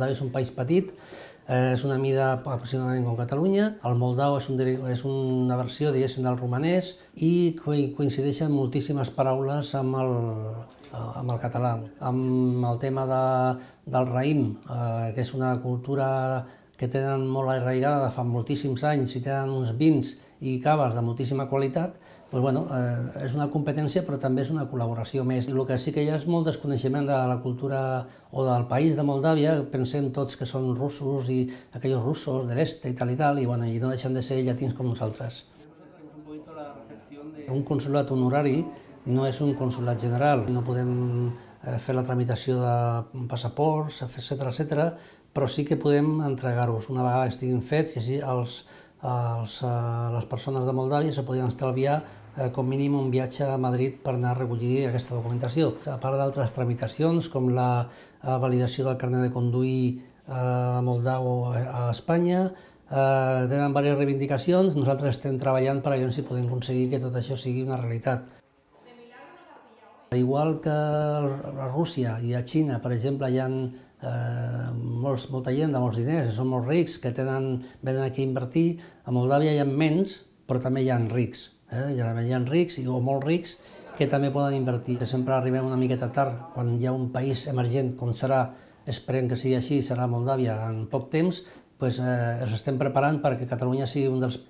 Moldàvia és un país petit, és una mida aproximadament com Catalunya. El moldau és una versió, diguéssim, del romanès i coincideixen moltíssimes paraules amb el català. Amb el tema del raïm, que és una cultura que tenen molt arraigada de fa moltíssims anys i tenen uns vins i caves de moltíssima qualitat, és una competència però també és una col·laboració més. El que sí que hi ha és molt desconeixement de la cultura o del país de Moldàvia, pensem tots que són russos i aquells russos de l'est i tal, i no deixen de ser llatins com nosaltres. Un consolat honorari no és un consolat general, no podem fer la tramitació de passaports, etc., però sí que podem entregar-los una vegada que estiguin fets i així les persones de Moldàvia se podien estalviar com mínim un viatge a Madrid per anar a recollir aquesta documentació. A part d'altres tramitacions com la validació del carnet de conduir moldau a Espanya, tenen diverses reivindicacions, nosaltres estem treballant per veure si podem aconseguir que tot això sigui una realitat. Igual que a Rússia i a Xina, per exemple, hi ha molta gent de molts diners, que són molt rics, que venen aquí a invertir. A Moldàvia hi ha menys, però també hi ha rics. Hi ha rics o molt rics que també poden invertir. Sempre arribem una miqueta tard, quan hi ha un país emergent, com serà, esperem que sigui així, serà Moldàvia en poc temps, ens estem preparant perquè Catalunya sigui un dels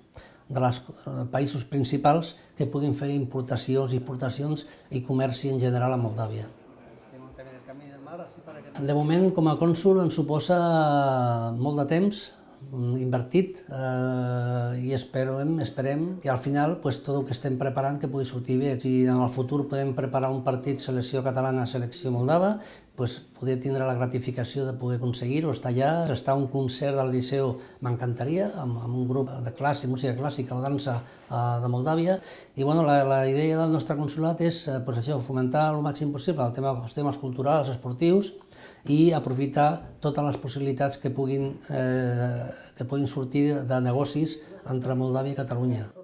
països principals que puguin fer importacions, exportacions i comerci en general a Moldàvia. De moment, com a cònsol, ens suposa molt de temps invertit i esperem que al final tot el que estem preparant que pugui sortir bé. Si en el futur podem preparar un partit selecció catalana, selecció moldava, poder tindre la gratificació de poder aconseguir-ho, estar allà, estar a un concert del Liceu m'encantaria, amb un grup de música clàssica o dansa de Moldàvia. I la idea del nostre consolat és fomentar el màxim possible els temes culturals, esportius, i aprofitar totes les possibilitats que puguin sortir de negocis entre Moldàvia i Catalunya.